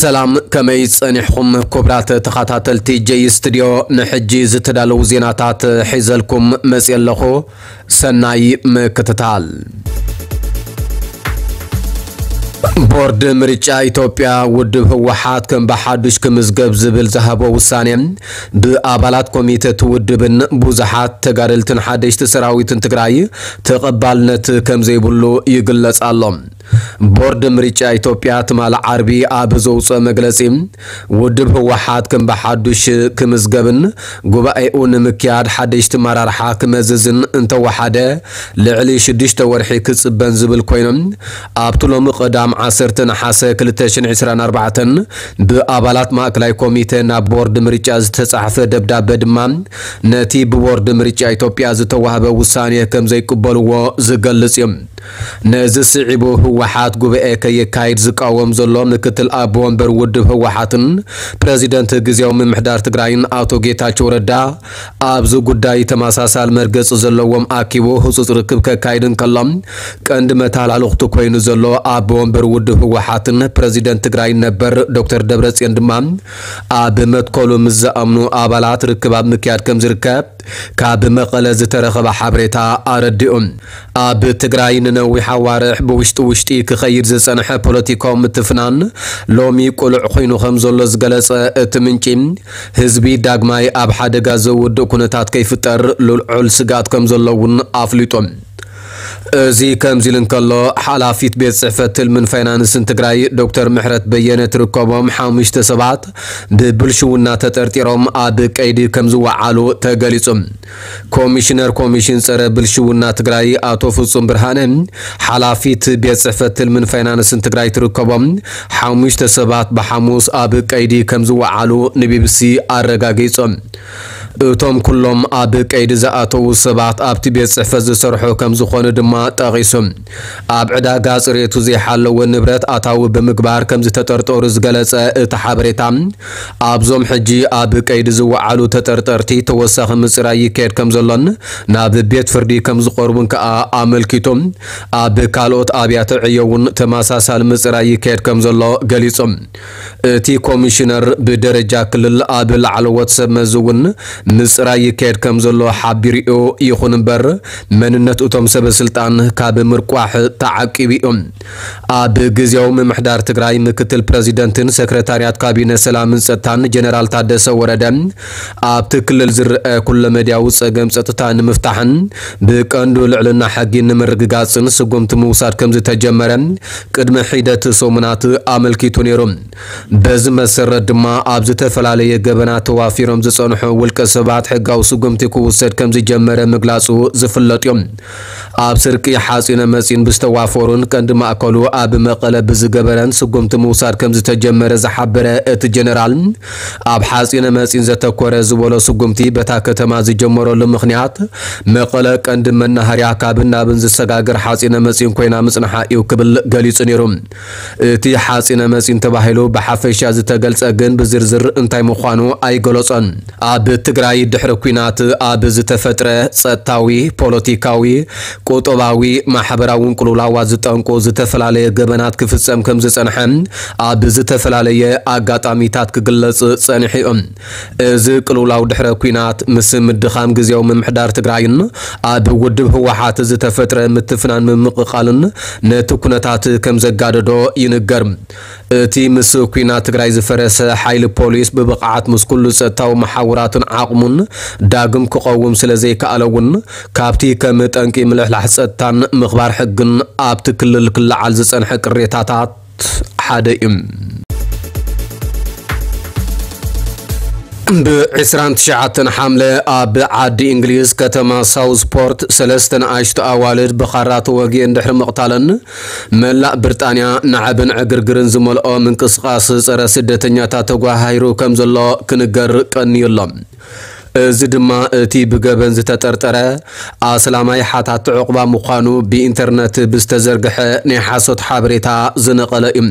ሰላም፣ ከመይ ጸኒሕኹም ክቡራት ተኸታተልቲ ጀይ ስቱድዮ? ንሕጂ ዝተዳለዉ ዜናታት ሒዘልኩም መጽየ ኣለኹ። ሰናይ ምክትታል። ቦርድ ምርጫ ኢትዮጵያ ውድብ ህወሓት ከም ብሓዱሽ ክምዝገብ ዝብል ዝሃቦ ውሳኔ ብኣባላት ኮሚተ እቲ ውድብን ብዙሓት ተጋደልትን ሓደሽቲ ሰራዊትን ትግራይ ተቐባልነት ከም ዘይብሉ ይግለጽ ኣሎ። ቦርድ ምርጫ ኢትዮጵያ ትማሊ ዓርቢ ኣብ ዘውፅኦ መግለፂ፣ ውድብ ህወሓት ከም ብሓዱሽ ክምዝገብን ጉባኤኡ ንምክያድ ሓደሽቲ መራርሓ ክመዝዝን እንተወሓደ ልዕሊ ሽዱሽተ ወርሒ ክፅበን ዝብል ኮይኑ፣ ኣብቲ ሎሚ ቀዳም ዓሰርተ ነሓሰ ክልተ ሽሕን ዕስራን ኣርባዕተን ብኣባላት ማእከላይ ኮሚተ ናብ ቦርድ ምርጫ ዝተፃሕፈ ደብዳበ ድማ ነቲ ብቦርድ ምርጫ ኢትዮጵያ ዝተዋህበ ውሳኔ ከም ዘይቅበልዎ ዝገልጽ እዩ። ነዚ ስዒቡ ህወሓት ጉባኤ ከየካይድ ዝቃወም ዘሎ ምክትል ኣቦ ወንበር ውድብ ህወሓትን ፕረዚደንት ግዜያዊ ምምሕዳር ትግራይን ኣቶ ጌታቸው ረዳ ኣብዚ ጉዳይ ተመሳሳሊ መርገጺ ዘለዎም ኣኪቡ ህጹጽ ርክብ ከካይድ እንከሎ፣ ቀንዲ መተሃላልኽቱ ኮይኑ ዘሎ ኣቦ ወንበር ውድብ ህወሓትን ፕረዚደንት ትግራይን ነበር ዶክተር ደብረጽዮን ድማ ኣብ መትከሉ ምስ ዝኣምኑ ኣባላት ርክብ ኣብ ምክያድ ከም ዝርከብ ካብ መቐለ ዝተረኸበ ሓበሬታ ኣረዲኡ። ኣብ ትግራይ ንነዊሕ ኣዋርሕ ብውሽጢ ውሽጢ ክኸይድ ዝጸንሐ ፖለቲካዊ ምትፍናን ሎሚ ቅሉዕ ኮይኑ ከም ዘሎ ዝገለጸ እቲ ምንጪ፣ ህዝቢ ዳግማይ ኣብ ሓደጋ ዘውድቕ ኩነታት ከይፍጠር ልዑል ስግኣት ከም ዘሎ እውን ኣፍሊጡ። እዚ ከምዚ ኢሉ እንከሎ፣ ሓላፊት ቤት ጽሕፈት ትልምን ፋይናንስን ትግራይ ዶክተር ምሕረት በየነ ትርከቦም ሓሙሽተ ሰባት ብብልሽውና ተጠርጢሮም ኣብ ቀይዲ ከም ዝወዓሉ ተገሊጹ። ኮሚሽነር ኮሚሽን ጸረ ብልሽውና ትግራይ ኣቶ ፍጹም ብርሃነ፣ ሓላፊት ቤት ጽሕፈት ትልምን ፋይናንስን ትግራይ ትርከቦም ሓሙሽተ ሰባት ብሓሙስ ኣብ ቀይዲ ከም ዝወዓሉ ንቢቢሲ ኣረጋጊጾም። እቶም ኩሎም ኣብ ቀይዲ ዝኣተዉ ሰባት ኣብቲ ቤት ጽሕፈት ዝሰርሑ ከም ዝኾኑ ድማ ጠቒሱ። ኣብ ዕዳጋ ጽሬቱ ዘይሓለወ ንብረት ኣታዊ ብምግባር ከም ዝተጠርጠሩ ዝገለጸ እቲ ሓበሬታ፣ ኣብዞም ሕጂ ኣብ ቀይዲ ዝወዓሉ ተጠርጠርቲ ተወሳኺ ምጽራይ ይካየድ ከም ዘሎን ናብ ቤት ፍርዲ ከም ዝቐርቡን ከኣ ኣመልኪቱ። ኣብ ካልኦት ኣብያተ ዕዮ እውን ተመሳሳሊ ምጽራይ ይካየድ ከም ዘሎ ገሊጹ። እቲ ኮሚሽነር ብደረጃ ክልል ኣብ ላዕለዎት ሰብ መዚ እውን ምጽራይ ይካየድ ከም ዘሎ ሓቢሩ እዩ። ይኹን እምበር፣ መንነት እቶም ሰበ ስልጣን ካብ ምርቋሕ ተዓቂቡ እዩ። ኣብ ግዜያዊ ምምሕዳር ትግራይ ምክትል ፕረዚደንትን ሰክረታርያት ካቢነ ሰላምን ጸጥታን ጀነራል ታደሰ ወረደ፣ ኣብቲ ክልል ዝረአ ኩለመዳያዊ ጸገም ጸጥታ ንምፍታሕን ብቀንዱ ልዕልና ሕጊ ንምርግጋጽን ስጉምቲ ምውሳድ ከም ዝተጀመረ ቅድሚ ሒደት ሰሙናት ኣመልኪቱ ነይሩ። በዚ መሰረት ድማ ኣብ ዝተፈላለየ ገበናት ተዋፊሮም ዝጸንሑ ውልቀ ሰባት ሕጋዊ ስጉምቲ ክውሰድ ከም ዝጀመረ ምግላጹ ዝፍለጥ እዩ። ኣብ ስርቂ ሓጺነ መጺን ብዝተዋፈሩን ቀንዲ ማእከሉ ኣብ መቐለ ብዝገበረን ስጉምቲ ምውሳድ ከም ዝተጀመረ ዝሓበረ እቲ ጀነራል፣ ኣብ ሓጺነ መጺን ዘተኮረ ዝበሎ ስጉምቲ በታ ከተማ ዝጀመረሉ ምኽንያት መቐለ ቀንዲ መናሃርያ ካብን ናብን ዝሰጋገር ሓጺነ መጺን ኮይና ምጽንሓ እዩ ክብል ገሊጹ ነይሩ። እቲ ሓጺነ መጺን ተባሂሉ ብሓፈሻ ዝተገልጸ ግን ብዝርዝር እንታይ ምዃኑ ኣይገለጾን። ኣብ ትግራይ ድሕሪ ኲናት ኣብ ዝተፈጥረ ጸጥታዊ፣ ፖለቲካዊ፣ ቁጠባዊ፣ ማሕበራውን ቅልውላዋት ዝጠንቁ ዝተፈላለየ ገበናት ክፍጸም ከም ዝጸንሐ ኣብ ዝተፈላለየ ኣጋጣሚታት ክግለጽ ጸኒሑ እዩ። እዚ ቅልውላው ድሕረ ኲናት ምስ ምድኻም ግዜያዊ ምምሕዳር ትግራይን ኣብ ውድብ ህወሓት ዝተፈጥረ ምትፍናን ምምቕቓልን ነቲ ኩነታት ከም ዘጋደዶ ይንገር። እቲ ምስ ኲናት ትግራይ ዝፈረሰ ሓይሊ ፖሊስ ብብቕዓት ምስ ኩሉ ጸጥታዊ መሓውራትን ዓቕሙን ዳግም ክቐውም ስለ ዘይከኣለ እውን ካብቲ ከም ጠንቂ ምልሕላሕ ጸጥታን ምኽባር ሕግን ኣብቲ ክልል ክለዓል ዝጸንሐ ቅሬታታት ሓደ እዩ። ብ ዕስራን ትሽዓተን ሓምለ ኣብ ዓዲ እንግሊዝ ከተማ ሳውዝፖርት ሰለስተ ንኣሽቱ ኣዋልድ ብኻራ ተወጊአን ድሕሪ ምቕታለን መላእ ብሪጣንያ ናዕብን ዕግርግርን ዝመልኦ ምንቅስቓስ ጸረ ስደተኛታት ተጓሃሂሩ ከም ዘሎ ክንገር ቀንዩ ኣሎ። እዚ ድማ እቲ ብገበን ዝተጠርጠረ ኣስላማይ ሓታቲ ዕቑባ ምዃኑ ብኢንተርነት ብዝተዘርግሐ ናይ ሓሶት ሓበሬታ ዝነቐለ እዩ።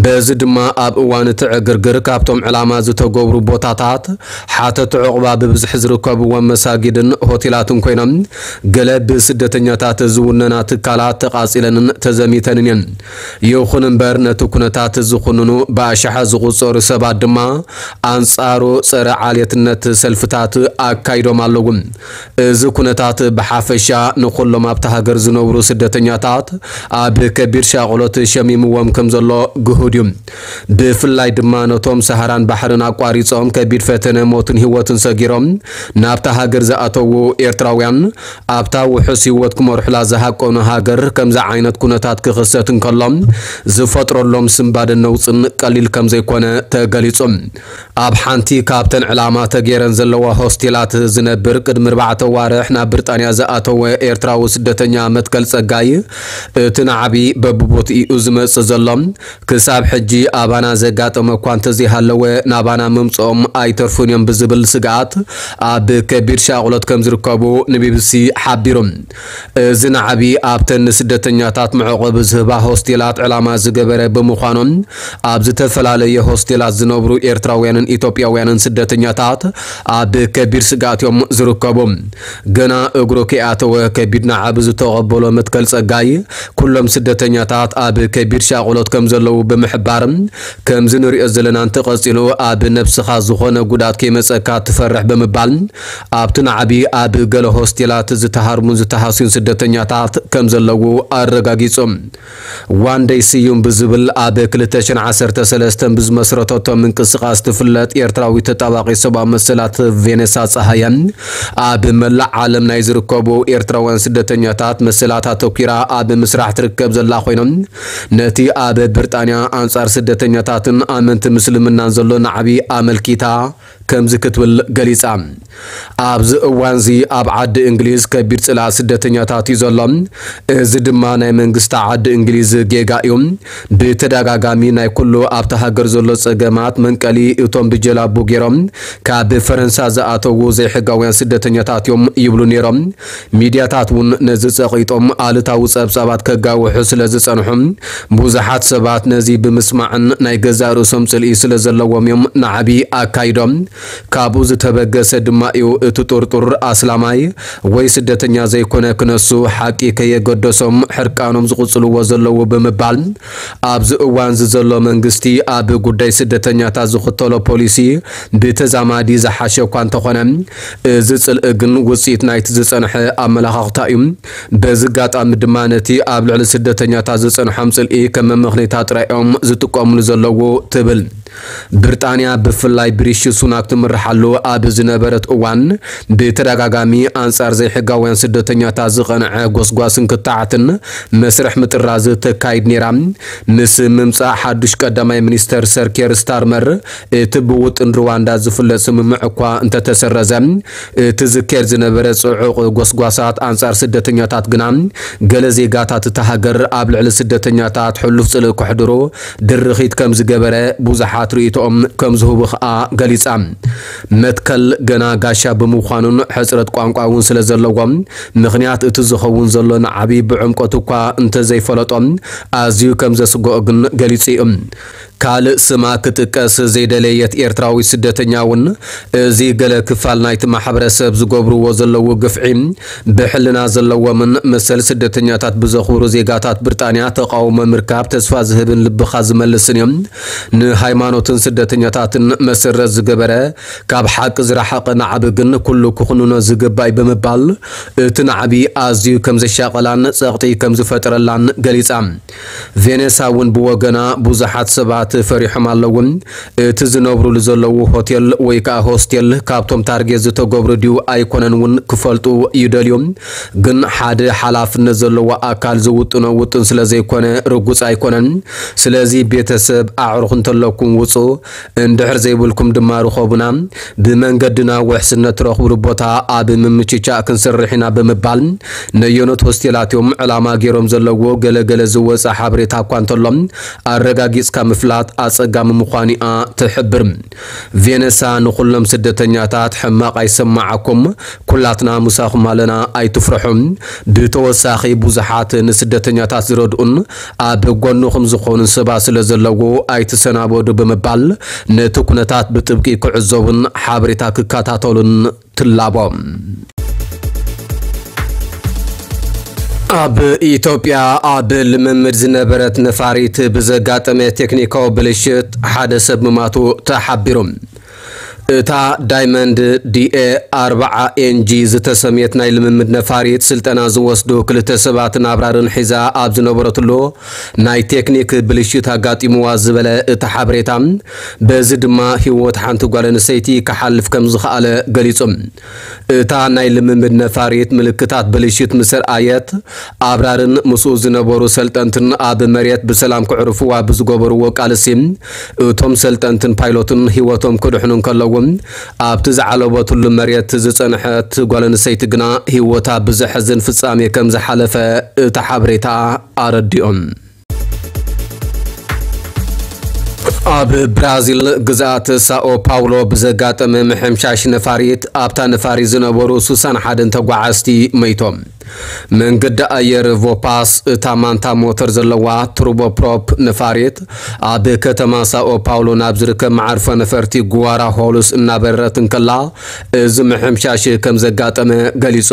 በዚ ድማ ኣብ እዋን እቲ ዕግርግር ካብቶም ዕላማ ዝተገብሩ ቦታታት ሓተቲ ዕቑባ ብብዝሒ ዝርከብዎም መሳጊድን ሆቴላትን ኮይኖም፣ ገለ ብስደተኛታት ዝውነና ትካላት ተቓጺለንን ተዘሚተንን እየን። ይኹን እምበር፣ ነቲ ኩነታት ዝኹንኑ ብኣሽሓት ዝቑጸሩ ሰባት ድማ ኣንጻሩ ጸረ ዓሌትነት ሰልፍታት ኣካይዶም ኣለዉ። እዚ ኩነታት ብሓፈሻ ንኹሎም ኣብታ ሃገር ዝነብሩ ስደተኛታት ኣብ ከቢድ ሻቕሎት ሸሚምዎም ከም ዘሎ ግሁድ እዩ። ብፍላይ ድማ ነቶም ሰሃራን ባሕርን ኣቋሪጾም ከቢድ ፈተነ ሞትን ህይወትን ሰጊሮም ናብታ ሃገር ዝኣተዉ ኤርትራውያን፣ ኣብታ ውሑስ ህይወት ክመርሑላ ዝሃቀኑ ሃገር ከምዚ ዓይነት ኩነታት ክኽሰት እንከሎ ዝፈጥረሎም ስንባደን ነውጽን ቀሊል ከም ዘይኮነ ተገሊጹ። ኣብ ሓንቲ ካብተን ዕላማ ተገይረን ዘለዋ ሆስቴላት ዝነብር ቅድሚ ኣርባዕተ ዋርሕ ናብ ብሪጣንያ ዝኣተወ ኤርትራዊ ስደተኛ መትከል ጸጋይ፣ እቲ ናዕቢ በብቦትኡ ዝመጽእ ዘሎ ክሳብ ሕጂ ኣባና ዘጋጠመ እኳ እንተዘይሃለወ፣ ናባና ምምጽኦም ኣይተርፉን እዮም ብዝብል ስግኣት ኣብ ከቢድ ሻቕሎት ከም ዝርከቡ ንቢቢሲ ሓቢሩ። እዚ ናዕቢ ኣብተን ንስደተኛታት መዕቆቢ ዝህባ ሆስቴላት ዕላማ ዝገበረ ብምዃኑ፣ ኣብ ዝተፈላለየ ሆስቴላት ዝነብሩ ኤርትራውያንን ኢትዮጵያውያንን ስደተኛታት ኣብ ከቢድ ስግኣት እዮም ዝርከቡ። ገና እግሩ ከይኣተወ ከቢድ ናዕቢ ዝተቐበሎ መትከል ጸጋይ፣ ኩሎም ስደተኛታት ኣብ ከቢድ ሻቕሎት ከም ዘለዉ ብምሕባር፣ ከምዚ ንሪኦ ዘለና እንተቐጺሉ ኣብ ነብስኻ ዝኾነ ጉድኣት ከይመጸካ ትፈርሕ ብምባል፣ ኣብቲ ናዕቢ ኣብ ገለ ሆስቴላት ዝተሃርሙን ዝተሃስዩን ስደተኛታት ከም ዘለዉ ኣረጋጊጹ። ዋንደይ ስዩም ብዝብል ኣብ ክልተ ሽሕን ዓሰርተ ሰለስተን ብዝመስረተቶ ምንቅስቓስ ትፍለጥ ኤርትራዊት ተጣባቒት ሰብኣዊ መሰላት ቬኔሳ ጸሃየ፣ ኣብ መላእ ዓለም ናይ ዝርከቡ ኤርትራውያን ስደተኛታት መሰላት ኣተኲራ ኣብ ምስራሕ ትርከብ ዘላ ኮይኖም፣ ነቲ ኣብ ብሪጣንያ ኣንጻር ስደተኛታትን ኣመንቲ ምስልምናን ዘሎ ናዕቢ ኣመልኪታ ከምዚ ክትብል ገሊጻ። ኣብዚ እዋንዚ ኣብ ዓዲ እንግሊዝ ከቢድ ጽልኣ ስደተኛታት እዩ ዘሎ። እዚ ድማ ናይ መንግስቲ ዓዲ እንግሊዝ ጌጋ እዩ። ብተደጋጋሚ ናይ ኩሉ ኣብታ ሃገር ዘሎ ጸገማት መንቀሊ እቶም ብጀላቡ ገይሮም ካብ ፈረንሳ ዝኣተዉ ዘይሕጋውያን ስደተኛታት እዮም ይብሉ ነይሮም። ሚድያታት እውን ነዚ ጸቒጦም ኣሉታዊ ጸብጻባት ከጋውሑ ስለ ዝጸንሑ፣ ብዙሓት ሰባት ነዚ ብምስማዕን ናይ ገዛእ ርእሶም ጽልኢ ስለ ዘለዎም እዮም ናዕቢ ኣካይዶም። ካብኡ ዝተበገሰ ድማ እዩ እቲ ጥርጡር ኣስላማይ ወይ ስደተኛ ዘይኮነ ክነሱ ሓቂ ከየገደሶም ሕርቃኖም ዝቕጽልዎ ዘለዉ ብምባል፣ ኣብዚ እዋንዚ ዘሎ መንግስቲ ኣብ ጉዳይ ስደተኛታት ዝኽተሎ ፖሊሲ ብተዛማዲ ዝሓሸ እኳ እንተኾነ፣ እዚ ጽልኢ ግን ውጽኢት ናይቲ ዝጸንሐ ኣመላኻኽታ እዩ። በዚ ኣጋጣሚ ድማ ነቲ ኣብ ልዕሊ ስደተኛታት ዝጸንሖም ጽልኢ ከም መመኽነይታ ጥራይ እዮም ዝጥቀምሉ ዘለዉ ትብል። ብሪጣንያ ብፍላይ ብሪሺ ሱናክ ትምርሓሉ ኣብ ዝነበረት እዋን ብተደጋጋሚ ኣንጻር ዘይሕጋውያን ስደተኛታት ዝቐንዐ ጎስጓስን ክትዓትን መስርሕ ምጥራዝ ተካይድ ነይራ። ምስ ምምጻእ ሓዱሽ ቀዳማይ ሚኒስተር ሰር ኬር ስታርመር እቲ ብውጥን ሩዋንዳ ዝፍለጥ ስምምዕ እኳ እንተተሰረዘ፣ እቲ ዝካየድ ዝነበረ ጽዑቕ ጎስጓሳት ኣንጻር ስደተኛታት ግና ገለ ዜጋታት እታ ሃገር ኣብ ልዕሊ ስደተኛታት ሕሉፍ ጽልኢ ከሕድሩ ድርኺት ከም ዝገበረ ብዙሓት ርእይቶኦም ከም ዝህቡ ከኣ ገሊጻ። መትከል ገና ጋሻ ብምዃኑን ሕጽረት ቋንቋ እውን ስለ ዘለዎ፣ ምኽንያት እቲ ዝኸውን ዘሎ ናዕቢ ብዕምቆት እኳ እንተዘይፈለጦ፣ ኣዝዩ ከም ዘስግኦ ግን ገሊጹ እዩ። ካልእ ስማ ክጥቀስ ዘይደለየት ኤርትራዊት ስደተኛ እውን፣ እዚ ገለ ክፋል ናይቲ ማሕበረሰብ ዝገብርዎ ዘለዉ ግፍዒ፣ ብሕልና ዘለዎምን መሰል ስደተኛታት ብዘኽብሩ ዜጋታት ብሪጣንያ ተቓውሞ ምርካብ ተስፋ ዝህብን ልብኻ ዝመልስን እዮም። ንሃይማኖትን ስደተኛታትን መሰረት ዝገበረ፣ ካብ ሓቂ ዝረሓቐ ናዕቢ ግን ኩሉ ክኹንኖ ዝግባእ እዩ ብምባል፣ እቲ ናዕቢ ኣዝዩ ከም ዘሻቐላን ጸቕጢ ከም ዝፈጠረላን ገሊጻ። ቬኔሳ እውን ብወገና፣ ብዙሓት ሰባት ፈሪሖም ኣለዉ። እቲ ዝነብሩሉ ዘለዉ ሆቴል ወይ ከኣ ሆስቴል ካብቶም ታርጌት ዝተገብሩ ድዩ ኣይኮነን እውን ክፈልጡ ይደልዩ። ግን ሓደ ሓላፍነት ዘለዎ ኣካል ዝውጥኖ ውጥን ስለ ዘይኮነ ርጉጽ ኣይኮነን። ስለዚ ቤተሰብ፣ ኣዕሩኽ እንተለኩም ውጹ፣ እንድሕር ዘይብልኩም ድማ ርኸቡና። ብመንገድና ውሕስነት ትረኽብሉ ቦታ ኣብ ምምችቻእ ክንሰርሕ ኢና ብምባል ነየኖት ሆስቴላት እዮም ዕላማ ገይሮም ዘለዉ ገለገለ ዝወጸ ሓበሬታ እኳ እንተሎ ኣረጋጊጽካ ምፍላጥ ኣጸጋሚ ምዃኑ'ያ ትሕብር። ቬነሳ ንኹሎም ስደተኛታት ሕማቕ ኣይሰማዓኩም፣ ኩላትና ምሳኹም ኣለና፣ ኣይትፍርሑ። ብተወሳኺ ብዙሓት ንስደተኛታት ዝረድኡን ኣብ ጎንኹም ዝኾኑን ሰባት ስለ ዘለዉ ኣይትሰናበዱ ብምባል ነቲ ኩነታት ብጥብቂ ክዕዘቡን ሓበሬታ ክከታተሉን ትላቦ። ኣብ ኢትዮጵያ ኣብ ልምምድ ዝነበረት ነፋሪት ብዘጋጠመ ቴክኒካዊ ብልሽት ሓደ ሰብ ምማቱ ተሓቢሩ። እታ ዳይመንድ ዲኤ ኣርብዓ ኤንጂ ዝተሰምየት ናይ ልምምድ ነፋሪት ስልጠና ዝወስዱ ክልተ ሰባትን ኣብራርን ሒዛ ኣብ ዝነበረትሉ ናይ ቴክኒክ ብልሽት ኣጋጢምዋ ዝበለ እቲ ሓበሬታ፣ በዚ ድማ ህይወት ሓንቲ ጓል ኣንስተይቲ ክሓልፍ ከም ዝኸኣለ ገሊጹ። እታ ናይ ልምምድ ነፋሪት ምልክታት ብልሽት ምስ ኣርኣየት፣ ኣብራርን ምስኡ ዝነበሩ ሰልጠንትን ኣብ መሬት ብሰላም ክዕርፍዋ ብዝገበርዎ ቃልሲ፣ እቶም ሰልጠንትን ፓይሎትን ህይወቶም ክድሕኑ እንከለዉ፣ ኣብቲ ዝዓለበትሉ መሬት ዝጸንሐት ጓል ኣንስተይቲ ግና ህይወታ ብዘሕዝን ፍጻሜ ከም ዝሓለፈ እቲ ሓበሬታ ኣረዲኦም። ኣብ ብራዚል ግዝኣት ሳኦ ፓውሎ ብዘጋጠመ ምሕምሻሽ ነፋሪት፣ ኣብታ ነፋሪት ዝነበሩ ስሳን ሓደን ተጓዓዝቲ መይቶም። መንገዲ ኣየር ቮፓስ፣ እታ ማንታ ሞተር ዘለዋ ቱርቦፕሮፕ ነፋሪት፣ ኣብ ከተማ ሳኦ ፓውሎ ናብ ዝርከብ መዓርፎ ነፈርቲ ጉዋራ ሆሉስ እናበረረት እንከላ፣ እዚ ምሕምሻሽ ከም ዘጋጠመ ገሊጹ።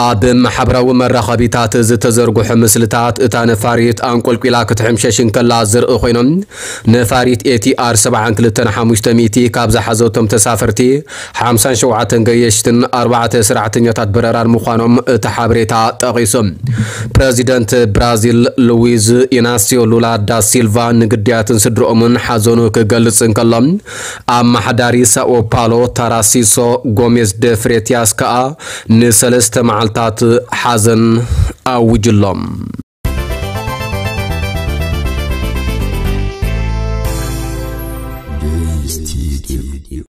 ኣብ ማሕበራዊ መራኸቢታት ዝተዘርግሑ ምስልታት፣ እታ ነፋሪት ኣንቆልቂላ ክትሕምሸሽ እንከላ ዝርኢ ኮይኖም፣ ነፋሪት ኤቲኣር ሰብዓን ክልተን ሓሙሽተ ሚእቲ ካብ ዝሓዘቶም ተሳፈርቲ፣ ሓምሳን ሸውዓተን ገየሽትን ኣርባዕተ ሰራሕተኛታት በረራን ምዃኖም እቲ ሓበሬታ ጠቒሱ። ፕረዚደንት ብራዚል ሉዊዝ ኢናሲዮ ሉላ ዳ ሲልቫ ንግዳያትን ስድርኦምን ሓዘኑ ክገልጽ እንከሎ፣ ኣመሓዳሪ ሳኦ ፓሎ ታራሲሶ ጎሜዝ ደ ፍሬቲያስ ከኣ ንሰለስተ መዓልታት ሓዘን ኣውጅሎም።